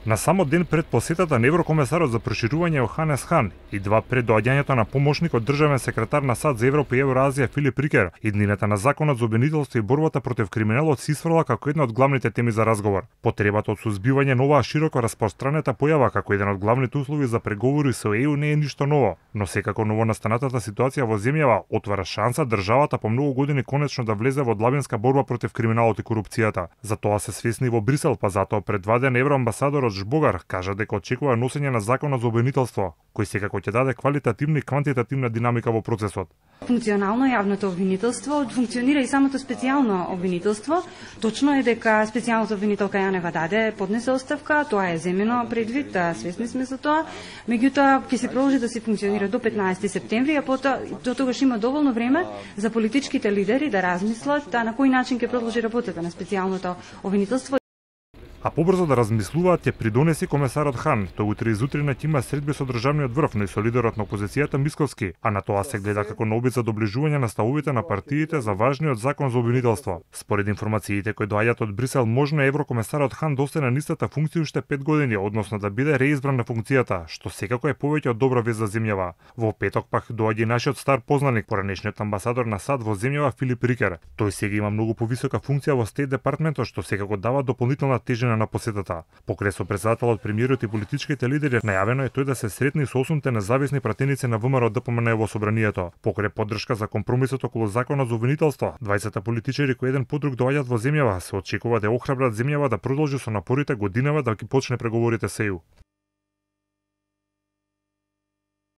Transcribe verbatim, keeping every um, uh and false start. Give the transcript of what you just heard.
На самот ден пред посетата на еврокомесарот за проширување Јоханес Хан и два пред доаѓањето на помошникот државен секретар на САД за Европа и Евроазија Филип Рикер, иднината на законот за обвинителство и борбата против криминалот се исфрла како една од главните теми за разговор. Потребата од сузбивање на оваа широко распространета појава како еден од главните услови за преговори со Е Ју не е ништо ново, но секако новонастанатата ситуација во земјава отвара шанса државата по многу години конечно да влезе во длабинска борба против криминалот и корупцијата. За тоа се свесни во Брисел, па затоа предваден евроамбасадорот Жбогар кажа дека очекува носење на законот за обвинителство, кој секако ќе даде квалитативна и квантитативна динамика во процесот. Функционално јавното обвинителство функционира и самото специјално обвинителство. Точно е дека специјалната обвинителка Јанева даде поднесе оставка, тоа е земено предвид, свесни сме за тоа. Меѓутоа ќе се продолжи да се функционира до петнаесети септември, а потоа до тогаш има доволно време за политичките лидери да размислат на кој начин ќе продолжи работата на специјалното обвинителство. А побрзо да размислуваат ќе придонеси комесарот Хан. Тој утре изутрина ќе има средби со државниот врв, но и со лидерот на опозицијата Мисковски, а на тоа се гледа како на обид за доближување на ставовите на партиите за важниот закон за обвинителство. Според информациите кои доаѓаат од Брисел, можно е еврокомесарот Хан да остане на истата функција уште пет години, односно да биде реизбран на функцијата, што секако е повеќе од добра вест за земјава. Во петок пак доаѓа и нашиот стар познаник, поранешниот амбасадор на САД во земјава Филип Рикер. Тој сега има многу повисока функција во Стейт департментот, што секако дава дополнителна тежина на посетата. Покрај со претседателот, премиерот и политичките лидери, најавено е тој да се сретни со осумте независни пратеници на ВМРО Д П М Н во собранието. Покрај поддршка за компромисот околу законот за обвинителство, двајцата политичари кои еден по друг доаѓаат во земјава се очекува да охрабрат земјава да продолжи со напорите годинава да ги почне преговорите со Е Ју.